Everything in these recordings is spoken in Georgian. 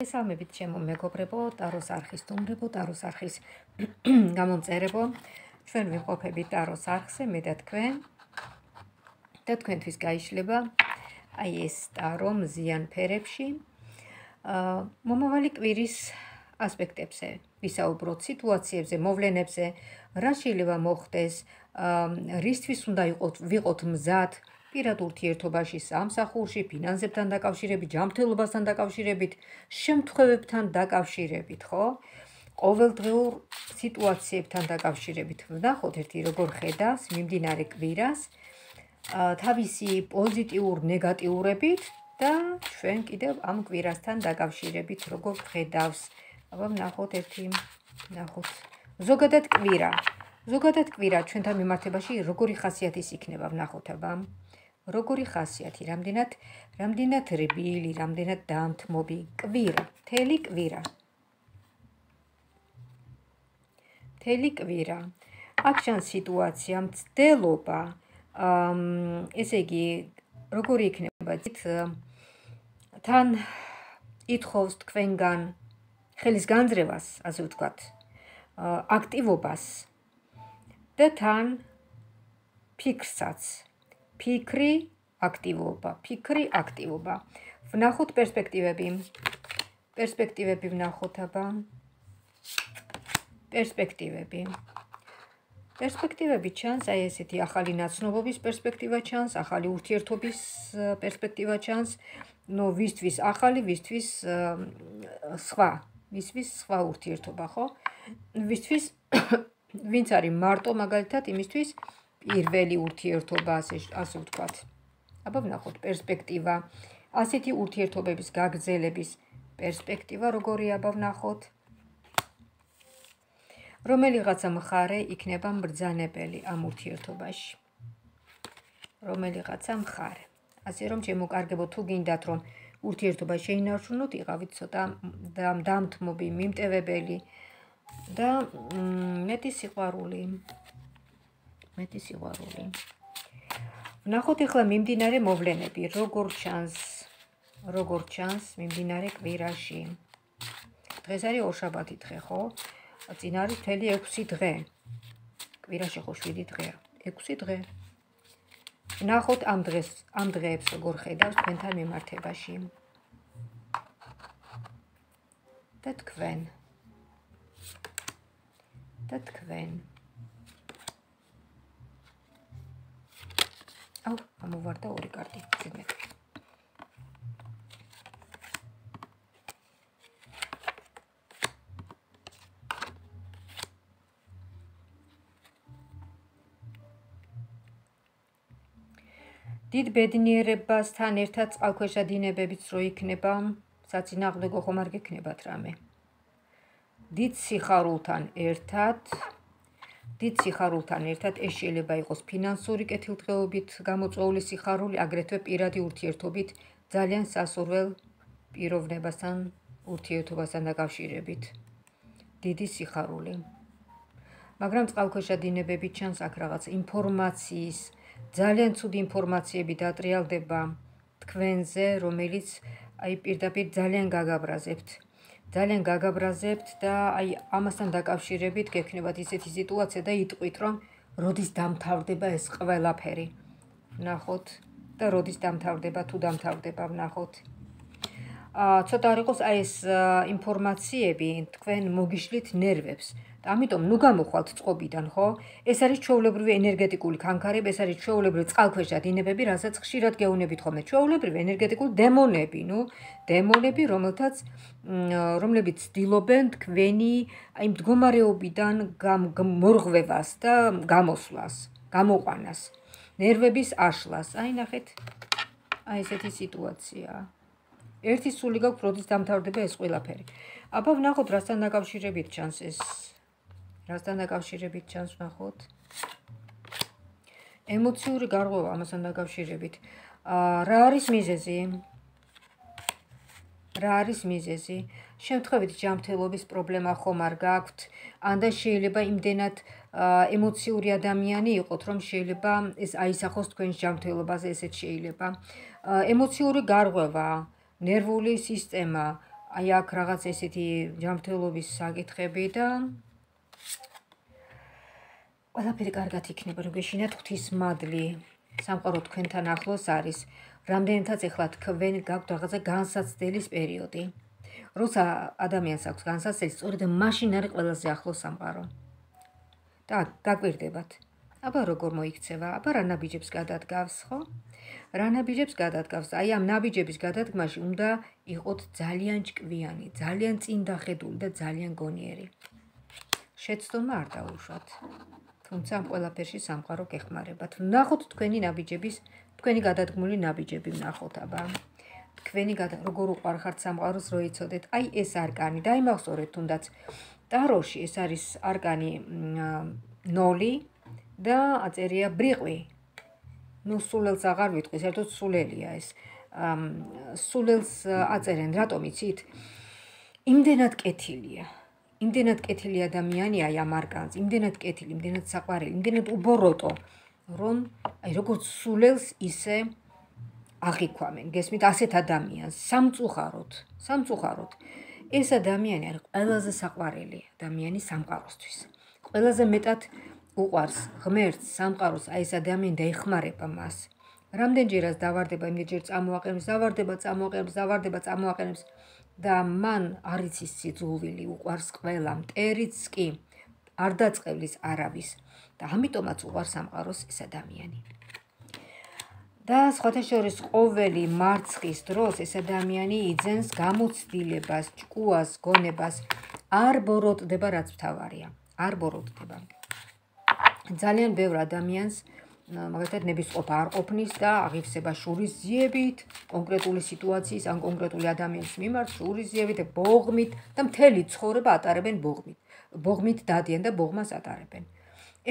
მოგესალმებით ჩემო მეგობრებო, ტაროს არხის სტუმრებო, ტაროს არხის გამომწერებო. ჩვენ ვიმყოფებით ტაროს არხზე, მე და თქვენთვის გაიშლება აი ეს ტარო მზიან ფერებში. მომავალი კვირის ასპექტებზე ვისაუბროთ, სიტუაციებზე, მოვლენებზე, რა შეიძლება მოხდეს, რისთვის უნდა ვიყოთ მზად პირად ურთიერთობაში, სამსახურში, ფინანსებთან დაკავშირებით, ჯანმრთელობასთან დაკავშირებით, შემთხვევებთან დაკავშირებით, ხო? ყოველდღიურ სიტუაციებთან დაკავშირებით. ვნახოთ ერთი როგორ ხედავს მიმდინარე კვირას, თავისი პოზიტიურ ნეგატიურებით და ჩვენ კიდევ ამ კვირასთან დაკავშირებით როგორ ხედავს. აბა ვნახოთ ზოგადად კვირა ჩვენთან მიმართებაში როგორი ხასიათის იქნება, ვნახოთ აბა. როგორი ხასიათი, რამდენად რბილი, რამდენად დამთმობი კვირა, მთელი კვირა. აქ ჩანს სიტუაცია, მცდელობა, ესე იგი, როგორი იქნება, თან ითხოვს თქვენგან ხელის განძრევას, ასე ვთქვათ, აქტივობას და თან ფიქრსაც. ფიქრი, აქტივობა. ვნახოთ პერსპექტივები ვნახოთ აბა. პერსპექტივები ჩანს, აი ესეთი ახალი ნაცნობობის პერსპექტივა ჩანს, ახალი ურთიერთობის პერსპექტივა ჩანს, ვისთვის ახალი, ვისთვის სხვა ურთიერთობა, ხო? ვისთვის ვინც არის მარტო მაგალითად, იმისთვის პირველი ურთიერთობა, ასე ვთქვათ. აბა ვნახოთ პერსპექტივა, ასეთი ურთიერთობების გაგრძელების პერსპექტივა როგორია, აბა ვნახოთ. რომელიღაცა მხარე იქნება მბრძანებელი ამ ურთიერთობაში. ასე რომ შემოკარგებო, თუ გინდათ რომ ურთიერთობა შეინარჩუნოთ, იყავით ცოტა დამთმობი, მიმტევებელი და მეტი სიყვარული. ვნახოთ ახლა მიმდინარე მოვლენები, როგორ ჩანს მიმდინარე კვირაში. დღეს არის ორშაბათი დღე, ხო? წინ არის მთელი 6 დღე. კვირაში ხო 7 დღეა, 6 დღე. ვნახოთ ამ დღეებს როგორ ხედავს თქვენთან მიმართებაში. და თქვენ. ამოვარდა ორი კარტი. დიდ ბედნიერებასთან ერთად წყალქვეშა დინებებიც რო იქნება, საწინააღმდეგო ხომ არ გექნებათ რამე. დიდ სიხარულთან ერთად ეს შეიძლება იყოს ფინანსური კეთილდღეობით გამოწვეული სიხარული, აგრეთვე პირადი ურთიერთობით ძალიან სასურველ პიროვნებასთან ურთიერთობასთან დაკავშირებით. დიდი სიხარული. მაგრამ წყალქვეშა დინებები ჩანს აქ რაღაც ინფორმაციის, ძალიან ცუდი ინფორმაციები დატრიალდება თქვენზე, რომელიც აი პირდაპირ ძალიან გაგაბრაზებთ და აი ამასთან დაკავშირებით გექნებათ ისეთი სიტუაცია და იტყვით, რომ როდის დამთავრდება ეს ყველაფერი. ვნახოთ და როდის დამთავრდება, თუ დამთავრდება, ვნახოთ. ცოტა არ იყოს აი ეს ინფორმაციები თქვენ მოგიშლით ნერვებს. ამიტომ ნუ გამოხვალთ წყობიდან, ხო? ეს არის ჩვეულებრივი ენერგეტიკული ქანქარები, ეს არის ჩვეულებრივი წყალქვეშა დინებები, რასაც ხშირად გეუბნებით ხოლმე. ჩვეულებრივი ენერგეტიკული დემონები, რომლებიც ცდილობენ თქვენი აი მდგომარეობიდან მორღვევას და გამოსვლას, გამოყვანას, ნერვების აშლას. აი ნახეთ, აი ესეთი სიტუაცია. ერთი სული გაქვს, როდის დამთავრდება ეს ყველაფერი. აბა ვნახოთ, რასთან დაკავშირებით ჩანს ეს. ვნახოთ. ემოციური გარღვევა ამასთან დაკავშირებით. რა არის მიზეზი? შემთხვევით ჯანმრთელობის პრობლემა ხომ არ გაქვთ? ანდა შეიძლება იმდენად ემოციური ადამიანი იყოთ, რომ შეიძლება ეს აისახოს თქვენს ჯანმრთელობაზე, ესეც შეიძლება. ემოციური გარღვევა, ნერვული სისტემა, აი აქ რაღაც ესეთი ჯანმრთელობის საკითხები და ყველაფერი კარგად იქნება, რომ გეშინათ ღვთისმადლი. სამყარო თქვენთან ახლოს არის. რამდენადაც ეხლა თქვენ გაქვთ რაღაცა განსაცდელის პერიოდი. როცა ადამიანს აქვს განსაცდელი, სწორედ მაშინ არის ყველაზე ახლოს სამყარო. და გაკვირდებათ. აბა როგორ მოიქცევა? აბა რა ნაბიჯებს გადადგავს, ხო? რა ნაბიჯებს გადადგავს? აი ამ ნაბიჯების გადადგმაში უნდა იყოთ ძალიან ჭკვიანი, ძალიან წინდახედული და ძალიან გონიერი. შეცდომა არ დაუშვათ. თუმცა ამ ყველაფერში სამყარო გეხმარებათ. ვნახოთ თქვენი ნაბიჯების, თქვენი გადადგმული ნაბიჯები ვნახოთ, აბა. თქვენი როგორ უყარხართ სამყაროს, რო იცოდეთ. აი ეს არკანი, დაიმახსოვრეთ თუნდაც. ტაროში ეს არის არკანი 0 და აწერია ბრიყვი. ნუ სულელს აღარ ვიტყვი, საერთოდ სულელია ეს. სულელს აწერენ, რატომ იცით? იმდენად კეთილია. იმდენად კეთილი ადამიანია ამ არკანს, იმდენად კეთილი, იმდენად საყვარელი, იმდენად უბოროტო, რომ აი როგორც სულელს ისე აღიქვამენ. გესმით, ასეთ ადამიანს სამწუხაროდ. ეს ადამიანი არის ყველაზე საყვარელი ადამიანი სამყაროსთვის. ყველაზე მეტად უყვარს ღმერთს, სამყაროს, აი ეს ადამიანი და ეხმარება მას. რამდენჯერაც დავარდება, იმდენჯერ წამოაყენებს და მან არ იცის სიძულვილი, უყვარს ყველა, მტერიც კი არ დაწყევლის არავის და ამიტომაც უყვარს სამყაროს ეს ადამიანი. და სხვათა შორის ყოველი მარცხის დროს ეს ადამიანი იძენს გამოცდილებას, ჭკუას, გონებას, არ ბოროტდება, რაც მთავარია, არ ბოროტდება. ძალიან ბევრ ადამიანს მაგალითად ნებისყოფა არ ყოფნის და აღივსება შურისძიებით, კონკრეტული სიტუაციის ან კონკრეტული ადამიანის მიმართ შურისძიებით და ბოღმით და მთელი ცხოვრება ატარებენ ბოღმით. ბოღმით დადიან და ბოღმას ატარებენ.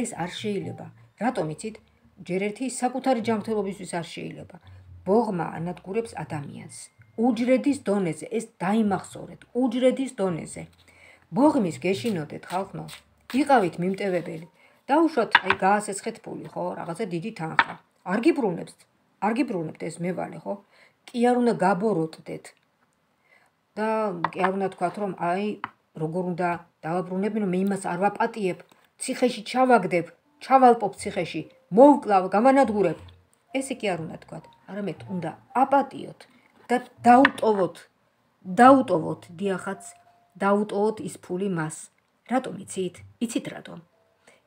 ეს არ შეიძლება. რატომ იცით? ჯერ ერთი საკუთარი ჯანმრთელობისთვის არ შეიძლება. ბოღმა ანადგურებს ადამიანს. უჯრედის დონეზე, ეს დაიმახსოვრეთ, უჯრედის დონეზე. ბოღმის გეშინოდეთ ხალხო, იყავით მიმტევებელი. დაუშვათ, აი გაასესხეთ ფული, ხო, რაღაცა დიდი თანხა. არ გიბრუნებთ ეს მევალე, ხო? კი არ უნდა გაბოროტდეთ. და კი არ უნდა თქვათ, რომ აი როგორ უნდა დავაბრუნებ, რომ მე იმას არ ვაპატიებ, ციხეში ჩავაგდებ, ჩავალპობ ციხეში, მოვკლავ, გამანადგურებ. ესე კი არ უნდა თქვათ, არამედ უნდა აპატიოთ და დაუტოვოთ დიახაც, დაუტოვოთ ის ფული მას. რატომ იცით? იცით რატომ?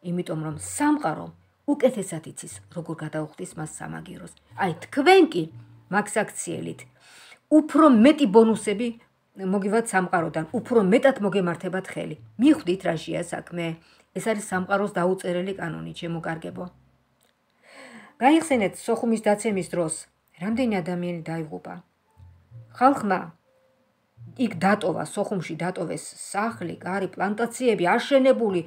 იმიტომ რომ სამყარო უკეთესად იცის, როგორ გადაუხდის მას სამაგიეროს. აი თქვენ კი მაგსაქციელით უფრო მეტი ბონუსები მოგივათ სამყაროდან, უფრო მეტად მოგემართებათ ხელი. მიხვდით რაშია საქმე? ეს არის სამყაროს დაუწერელი კანონი, ჩემო კარგებო. გაიხსენეთ სოხუმის დაცემის დროს, რამდენი ადამიანი დაიღუპა. ხალხმა იქ დატოვა, სოხუმში დატოვეს სახლი, კარი, პლანტაციები, აშენებული,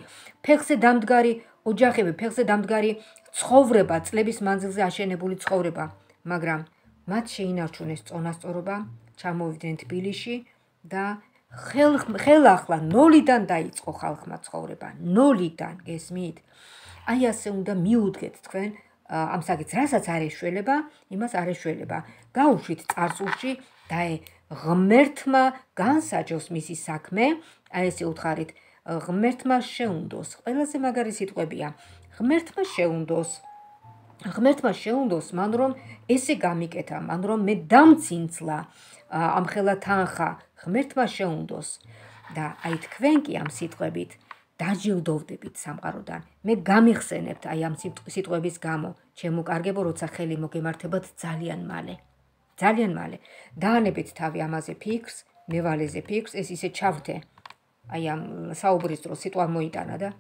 ფეხზე დამდგარი ოჯახები, ფეხზე დამდგარი ცხოვრება, წლების მანძილზე აშენებული ცხოვრება, მაგრამ მათ შეინარჩუნეს წონასწორობა, ჩამოვიდნენ თბილისში და ხელახლა 0-დან დაიწყო ხალხმა ცხოვრება, 0-დან, გესმით? აი ასე უნდა მიუდგეთ თქვენ ამ საკითხს, რასაც არ ეშველება, იმას არ ეშველება. გაუშვით წარსულში და ღმერთმა განსაჯოს მისი საქმე, აი ესე უთხარით, ღმერთმა შეუნდოს. ყველაზე მაგარი სიტყვებია. ღმერთმა შეუნდოს, მან რომ ესე გამიკეთა, მან რომ მე დამცინცლა ამხელა თანხა, ღმერთმა შეუნდოს. და აი თქვენ კი ამ სიტყვებით დაჯილდოვდებით სამყაროდან. მე გამიხსენებთ აი ამ სიტყვების გამო, ჩემო კარგებო, როცა ხელი მოგემართებათ ძალიან მალე. ძალიან მალე. დაანებეთ თავი ამაზე ფიქრს, მევალეზე ფიქრს, ეს ისე ჩავრთე. აი ამ საუბრის დროს სიტყვა მოიტანა და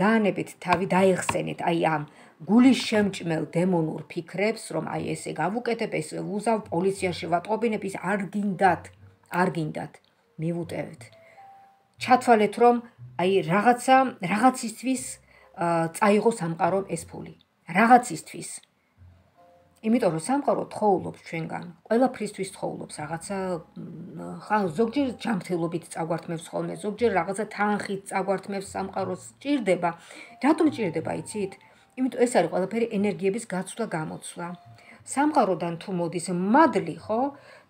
დაანებეთ თავი, დაეხსენეთ აი ამ გულის შემჭმელ დემონურ ფიქრებს, რომ აი ესე გავუკეთებ, ეს უზავ პოლიციაში ვატყობინებ, ის არ გინდათ. მივუტევეთ. ჩათვალეთ, რომ აი რაღაცისთვის წაიღო სამყარომ ეს ფული. რაღაცისთვის. იმიტომ რომ სამყარო თხოვლობს ჩვენგან, ყველაფრისთვის თხოვლობს, რაღაცა ზოგჯერ ჯანმრთელობით წაგვართმევს ხოლმე, ზოგჯერ რაღაცა თანხით წაგვართმევს სამყაროს, ჭირდება. რატომ ჭირდება, იცით? იმიტომ ეს არის ყველაფერი ენერგიების გაცვლა-გამოცვლა. სამყაროდან თუ მოდის მადლი, ხო?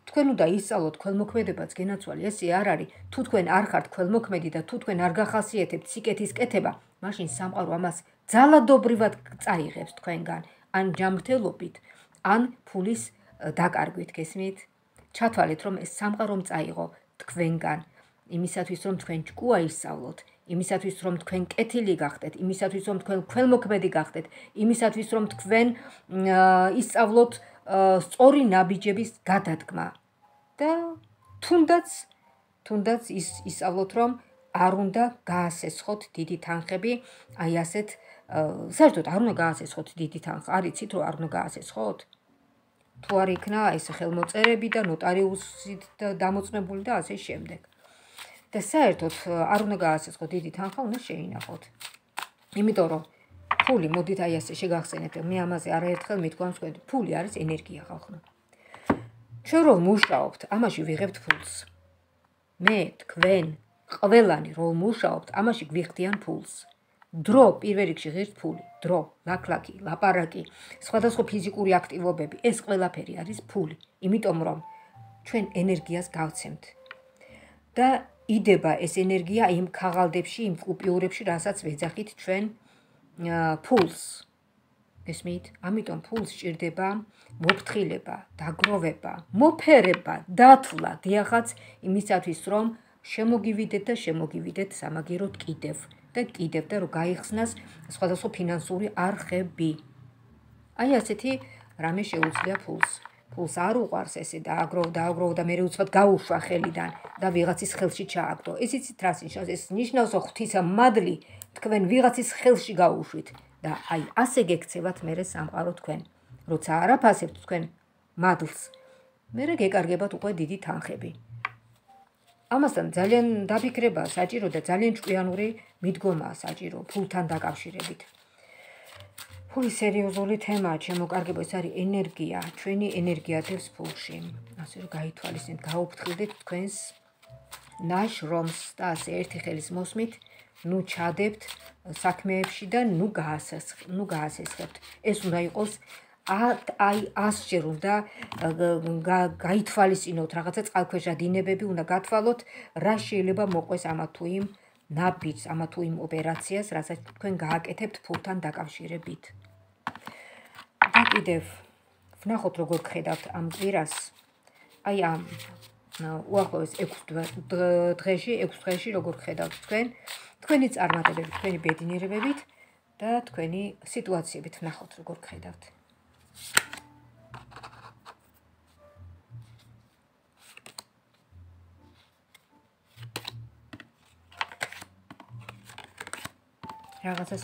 თქვენ უნდა ისწავლოთ ქველმოქმედებაც გენაცვალი, ესე არ არის. თუ თქვენ არ ხართ ქველმოქმედი და თუ თქვენ არ გახასიათებთ სიკეთის კეთება, მაშინ სამყარო ამას ძალადობრივად წაიღებს თქვენგან, ან ჯანმრთელობით, ან ფულის დაკარგვით, გესმით? ჩათვალეთ, რომ ეს სამყარომ წაიღო თქვენგან, იმისათვის, რომ თქვენ ჭკუა ისწავლოთ, იმისათვის, რომ თქვენ კეთილი გახდეთ, იმისათვის, რომ თქვენ ქველმოქმედი გახდეთ, იმისათვის, რომ თქვენ ისწავლოთ სწორი ნაბიჯების გადადგმა და თუნდაც ისწავლოთ, რომ არ უნდა გაასესხოთ დიდი თანხები, აი ასეთ საერთოდ არ უნდა გაასესხოთ დიდი თანხა, არიცით რომ არ უნდა გაასესხოთ? თუ არ იქნა ეს ხელმოწერები და ნოტარიუსით დამოწმებული და ასე შემდეგ. და საერთოდ არ უნდა გაასესხოთ დიდი თანხა, უნდა შეინახოთ. იმიტომ რომ ფული, მოდით აი ასე შეგახსენეთ, მე ამაზე არაერთხელ მithქვამს, ფული არის ენერგია, ხალხო. ჩვენ რომ მუშაობთ, ამაში ვიღებთ ფულს. მე, თქვენ, ყველანი რომ მუშაობთ, ამაში გვიხდიან ფულს. დრო პირველ რიგში ღირს ფული, დრო, ლაქლაკი, ლაპარაკი, სხვადასხვა ფიზიკური აქტივობები, ეს ყველაფერი არის ფული, იმიტომ რომ ჩვენ ენერგიას გავცემთ. და იდება ეს ენერგია იმ ქაღალდებში, იმ კუპიურებში, რასაც ვეძახით ჩვენ ფულს. გესმით? ამიტომ ფულს სჭირდება მოფრთხილება, დაგროვება, მოფერება, დათვლა, დიახაც იმისათვის, რომ შემოგივიდეთ სამაგიეროდ კიდევ და რომ გაიხსნას სხვადასხვა ფინანსური არხები. აი ასეთი რამე შეუძლია ფულს. ფულს არ უყვარს ესე დააგროვ და მერე უცბად გაუშვა ხელიდან და ვიღაცის ხელში ჩააგდო. ეს იცით რას ნიშნავს? ეს ნიშნავს, რომ ღვთისა მადლი თქვენ ვიღაცის ხელში გაუშვით და აი ასე გექცევათ მერე სამყარო თქვენ. როცა არაფასებთ თქვენ მადლს, მერე გეკარგებათ უკვე დიდი თანხები. ამასთან ძალიან დაფიქრება საჭირო და ძალიან ჭკვიანური მიდგომაა საჭირო ფულთან დაკავშირებით. ფული სერიოზული თემაა, ჩემო კარგებო, ეს არის ენერგია, ჩვენი ენერგია დევს ფულში. ასე რომ გაითვალისწინეთ, გაუფრთხილდეთ თქვენს ნაშრომს და ასე ერთი ხელის მოსმით, ნუ ჩადებთ საქმეებში და ნუ გაასესხებთ. ეს უნდა იყოს აი 100-ჯერ უნდა გაითვალისწინოთ რაღაცა წყალქვეშა დინებები უნდა გათვალოთ, რა შეიძლება მოყვეს ამა თუ იმ ნაბიჯს, ამა თუ იმ ოპერაციას, რასაც თქვენ გააკეთებთ ფულთან დაკავშირებით. და კიდევ ვნახოთ როგორ გხედავთ ამ კვირას. აი ამ უახლოეს 6 დღეში როგორ გხედავთ თქვენ, თქვენი წარმატებებით, თქვენი ბედნიერებებით და თქვენი სიტუაციებით. ვნახოთ როგორ გხედავთ. რაღაცას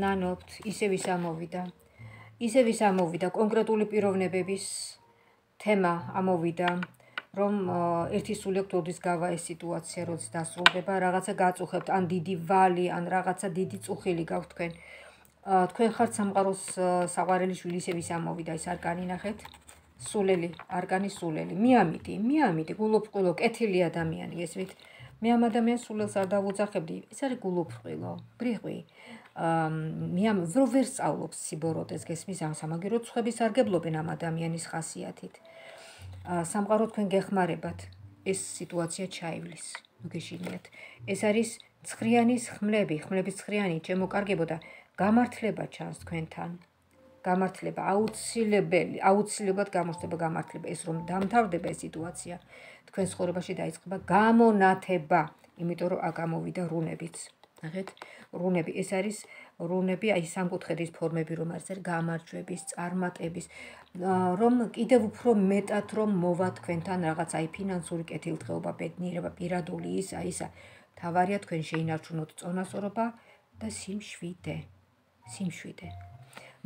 ნანობთ, ისევ ის ამოვიდა, კონკრეტული პიროვნებების თემა ამოვიდა, რომ ერთი სული აქვს როდის გავა ეს სიტუაცია, როდის დასრულდება, რაღაცა გაწუხებთ, ან დიდი ვალი, ან რაღაცა დიდი წუხილი გაქვთ თქვენ. თქვენ ხართ სამყაროს საყვარელი შვილი, ისევ ის ამოვიდა, ეს არკანი ნახეთ. სულელი, არკანი სულელი. მიამიდი, გულოფრყვილო, კეთილი ადამიანი, ესვით. მე ამ ადამიანს სულელს არ დავუძახებდი, ეს არის გულოფრყვილო, ბრიყვი. ვერ სწავლობს სიბოროტეს, გესმის, სამაგიეროდ სხვები სარგებლობენ ამ ადამიანის ხასიათით. სამყარო თქვენ გეხმარებათ, ეს სიტუაცია ჩაივლის, მოგეშინიათ. ეს არის ცხრიანის ხმლების ცხრიანი, ჩემო კარგებო და გამართლება ჩანს თქვენთან. გამართლება აუცილებლად გამოჩნდება გამართლება, ეს რომ დამთავრდება ეს სიტუაცია, თქვენ ცხოვრებაში დაიწყება გამონათება, იმიტომ რომ აქ ამოვიდა რუნებიც. ნახეთ, რუნები, ეს არის რუნები, აი სამკუთხედის ფორმები, რომ არის გამარჯვების, წარმატების, რომ კიდევ უფრო მეტად რომ მოვა თქვენთან რაღაც აი ფინანსური კეთილდღეობა, ბედნიერება, პირადული ისა. თავარია თქვენ შეინარჩუნოთ წონასწორობა და სიმშვიდე.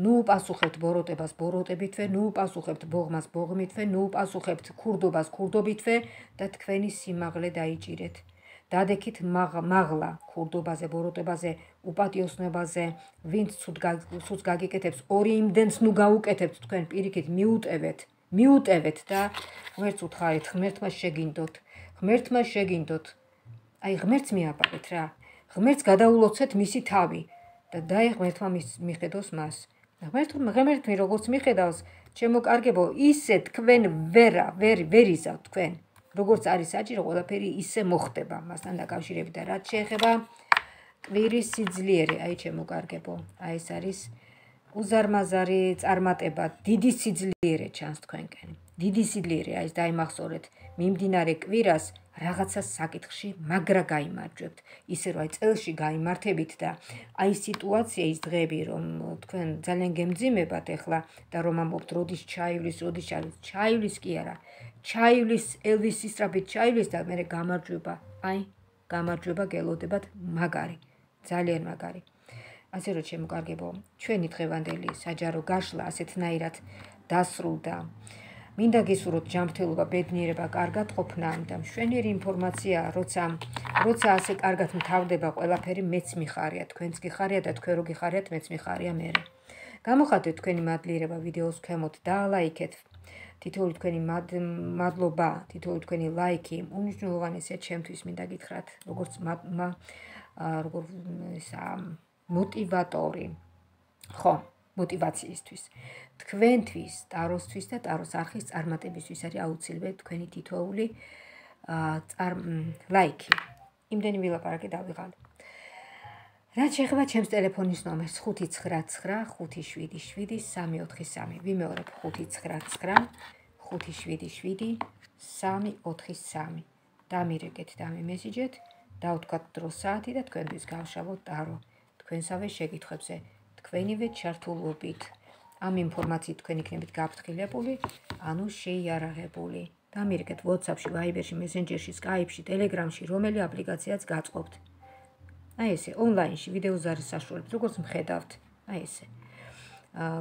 ნუ პასუხებთ ბოროტებას ბოროტებითვე, ნუ პასუხებთ ბოღმას ბოღმითვე, ნუ პასუხებთ ქურდობას ქურდობითვე და თქვენი სიმაღლე დაიჭირეთ. დადექით მაღლა ქურდობაზე, ბოროტებაზე, უპატიოსნობაზე, ვინც ცუდს გაგიკეთებს, ორი იმდენს ნუ გაუკეთებთ თქვენ პირიქით, მიუტევეთ და ღმერთს უთხარით, ღმერთმა შეგინდოთ. აი ღმერთს მიაპარეთ რა. ღმერთს გადაულოცეთ მისი თავი და დაე ღმერთმა მიხედოს მას. ღმერთი როგორც მიხედავს, ჩემო კარგებო, ისე თქვენ ვერ იზავთ თქვენ. როგორც არის საჭირო, ყველაფერი ისე მოხდება მასთან დაკავშირებით და რაც შეეხება კვირის სიძლიერე, აი ჩემო კარგებო, აი ეს არის უზარმაზარი წარმატება, დიდი სიძლიერე ჩანს თქვენკენ. დიდი სიძლიერე, აი ეს დაიმახსოვრეთ, მიმდინარე კვირას რაღაცა საკითხში მაგრა გაიმარჯვებთ. ისე რომ აი წელში გაიმართებით და აი სიტუაცია ის დღეები რომ თქვენ ძალიან გემძიმებათ ახლა და რომ ამბობთ როდის ჩაივლის, ჩაივლის კი არა. ჩაივლის ელვისი სწრაფით ჩაივლის და მე გამარჯვება, აი გამარჯვება გელოდებათ მაგარი, ძალიან მაგარი. ასე რომ ჩემო კარგებო, ჩვენი დღევანდელი საჯარო გაშლა ასეთნაირად დასრულდა. მინდა გისურვოთ ჯანმრთელობა, ბედნიერება, კარგად ყოფნა და მშვენიერი ინფორმაცია, როცა ასე კარგად მთავრდება ყველაფერი, მეც მიხარია, თქვენც გიხარია და თქვენ რო გიხარიათ, მეც მიხარია მე. გამოხატეთ თქვენი მადლიერება ვიდეოს ქვემოთ და ლაიქეთ. თითოეული თქვენი მადლობა, თითოეული თქვენი ლაიქი უნიშნულოვანესია ჩემთვის, მინდა გითხრათ, როგორც მოტივატორი. ხო, მოტივაციისთვის. თქვენთვის, ტაროსთვის და ტაროს არხის წარმატებისთვის არის აუცილებელი თქვენი თითოეული ლაიქი. იმდენი ვილაპარაკე დავიღალე. რაც შეეხება ჩემს ტელეფონის ნომერს 599577343. ვიმეორებ 599577343. დამირეკეთ და მემესიჯეთ, დავთქვათ დრო საათი და თქვენთვის გავშალოთ ტარო. თქვენსავე შეკითხვებზე, თქვენივე ჩართულობით. ამ ინფორმაციით თქვენ იქნებით გაფრთხილებული, ანუ შეიარაღებული. დამირეკეთ WhatsApp-ში, Viber-ში, Messenger-ში, Skype-ში, Telegram-ში, რომელი აპლიკაციაც გაწყობთ. აი ესე, ონლაინში ვიდეოზარის საშუალებით, როგორც მხედავთ, აი ესე.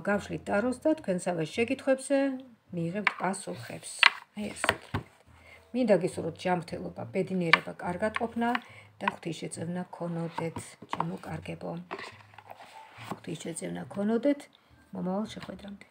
გავშლით ტაროს და თქვენსავე შეკითხვებზე მიიღებთ პასუხებს. აი ესე. მინდა გისურვოთ ჯანმრთელობა, ბედნიერება, კარგად ყოფნა და ღვთისშეწევნა გქონოდეთ, ჩემო კარგებო. ღვთისშეწევნა გქონოდეთ, მომავალ შეხვედრამდე.